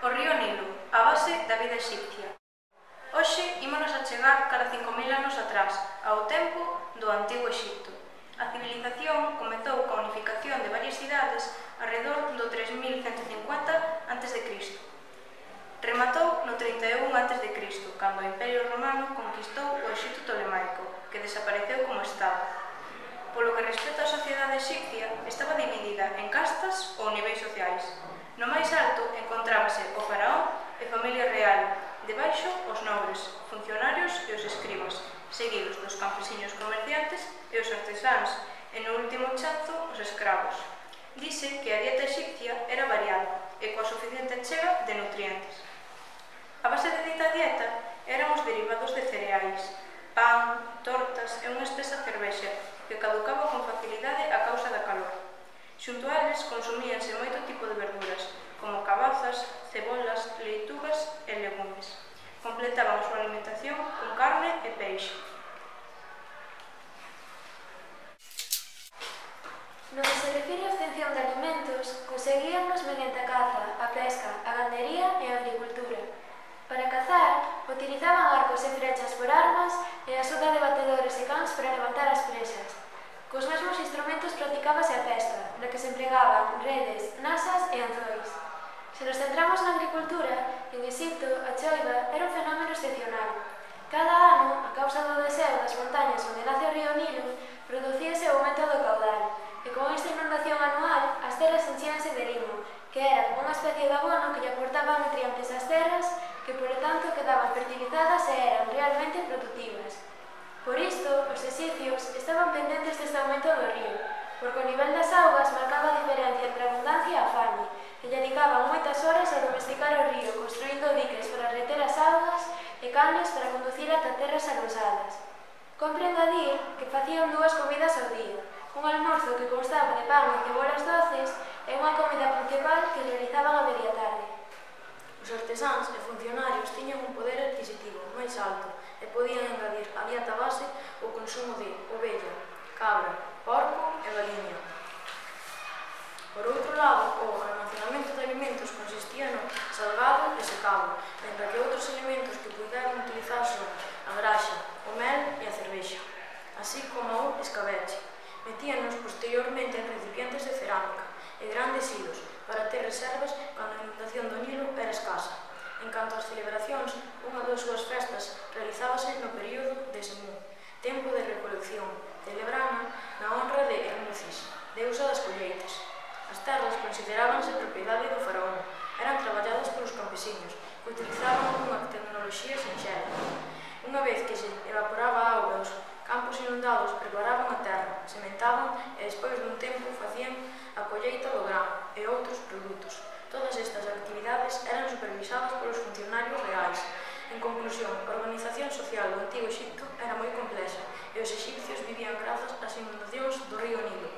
O río Nilo, a base da vida exipcia. Hoxe ímonos a chegar cara 5.000 anos atrás, ao tempo do Antigo Exipto. A civilización comezou coa unificación de varias cidades arredor do 3150 a.C. Rematou no 31 a.C., cando o Imperio Romano conquistou o Exipto Ptolemaico, que desapareceu como estado. Polo que respecta á sociedade exipcia, estaba dividida en castas ou niveis sociais. No máis alto encontrábase o faraón e familia real, debaixo os nobres, funcionarios e os escribas, seguidos dos campesiños comerciantes e os artesáns, e no último chanzo os escravos. Dice que a dieta exipcia era variada e coa suficiente chega de nutrientes. A base de dita dieta eran os derivados de cereais, pan, tortas e unha espesa cervexa que caducaba con facilidade a causa da calor. Xunto a eles consumíanse moito tipo de verduras, como cabazas, cebolas, leitugas e legumes. Completaban a súa alimentación con carne e peixe. No que se refire á obtención de alimentos, conseguíannos mediante a caza, a pesca, a gandería e a agricultura. Para cazar, utilizaban arcos e flechas por armas e a axuda de batedores e cans para levantar as presas. Cos mesmos instrumentos practicábase a pesca, na que se empregaban redes, nasas e anzois. Se nos centramos na agricultura, en Exipto a choiva era un fenómeno excepcional. Cada ano, a causa do deseo das montañas onde nace o río Nilo, producíase o aumento do caudal, e con esta inundación anual as terras enchíanse de limo, que era como unha especie de abono que lle aportaba nutrientes ás terras, que por tanto quedaban fertilizadas e eran realmente productivas. Por isto, os exipcios estaban pendentes deste aumento do río, porque o nivel das augas marcaba a diferencia entre a abundancia e a fame, e dedicaban moitas horas a domesticar o río, construindo diques para reter as augas e canles para conducir ata terras arosadas. Compre engadir que facían 2 comidas ao día, un almorzo que constaba de pan e cebolas doces e unha comida principal que realizaban a media tarde. Os artesáns e funcionarios tiñan un poder adquisitivo máis alto e podían engadir á dieta base o consumo de ovella, cabra, porco e galiña. Por outro lado, o almacenamento de alimentos consistía no salgado e secado, mentre que outros elementos que puideran utilizar son a graxa, o mel e a cervexa, así como o escabeche. Metíanos posteriormente en recipientes de cerámica e grandes hilos para ter reservas cando a inundación do Nilo era escasa. En canto ás celebracións, unha das súas festas realizábase no período de Semú, tempo de recolección, celebrana na honra de Hermucis, deusa das colleitas. As terras considerábanse propiedade do faraón, eran traballadas polos campesiños, que utilizaban unha tecnoloxía sinxela. Unha vez que se evaporaba a auga dos campos inundados, preparaban a terra, sementaban e despois dun tempo facían a colleita do grano e outros produtos. Todas estas actividades eran supervisadas polos funcionarios reais. En conclusión, a organización social do Antigo Exipto era moi complexa e os exipcios vivían grazas ás inundacións do río Nilo.